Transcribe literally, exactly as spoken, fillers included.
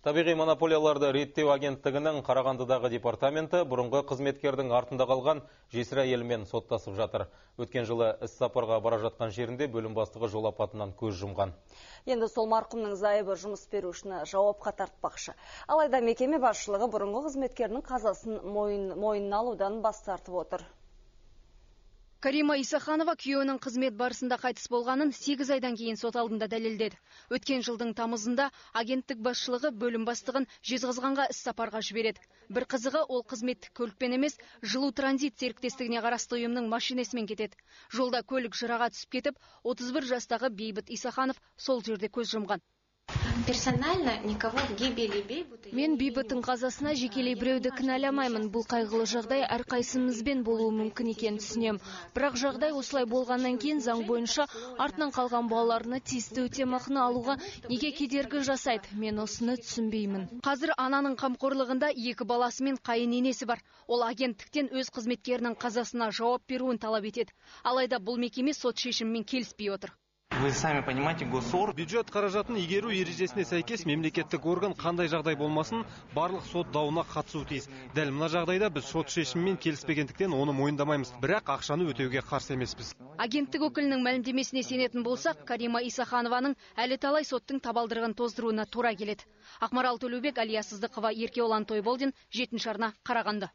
Табиғи монополияларды реттеу агенттігінің Қарағандыдағы департаменті бұрынғы қызметкердің артында қалған жесір әйелімен соттасып жатыр. Өткен жылы іс сапарға бара жатқан жерінде бөлім бастығы жол апатынан көз жұмған. Енді сол марқұмның зайыбы жұмыс берушіні жауапқа тартпақшы. Алайда мекеме басшылығы бұрынғы қызметкерінің қазасын мойын, мойнына алудан бас тартып отыр. Карима Исаханова күйеуінің қызмет барысында қайтыс болғанын сегіз айдан кейін сот алдында дәлелдеді. Өткен жылдың тамызында агенттік басшылығы бөлім бастығын Жезқазғанға іс сапарға жібереді. Бір қызығы, ол қызметтік көлікпен емес, жылу транзит серіктестігіне қарасты ұйымның машинасымен кетеді. Жолда көлік жыраға түсіп кетіп, отыз бір жастағы Бейбіт Исаханов сол жерде көз жұмған. Мен Бейбіттің қазасына жекелей біреуді кінәламаймын. Бұл қайғылы жағдай әрқайсымызбен болуы мүмкін екенін түсінем. Бірақ жағдай осылай болғаннан кейін заң бойынша артынан қалған балаларына тиісті өтемақыны алуға неге кедергі жасайды? Мен осыны түсінбеймін. Қазір ананың қамқорлығында екі баласы мен қайын-енесі бар. Ол агенттіктен өз қызметкерінің қазасына жауап беруін талап етеді. Алайда бұл мекеме сот шешімімен келіспей отыр. Вы сами понимаете, госор... Бюджет қаражатын игеру ережесіне сәйкес мемлекеттік орган қандай жағдай болмасын, барлық сот дауына қатысуы тиіс. Дәл мына жағдайда біз сот шешімімен келіспегендіктен оны мойындамаймыз. Бірақ ақшаны өтеуге қарсы емеспіз. Агенттік өкілінің мәлімдемесіне сенетін болсақ, Карима Исаханованың әлі талай соттың табалдырығын тоздыруына тура келеді. Ақмарал Төлеубек, Алия Сыздықова, Еркеолан Тойболдин, жетінші арна, Қарағанды.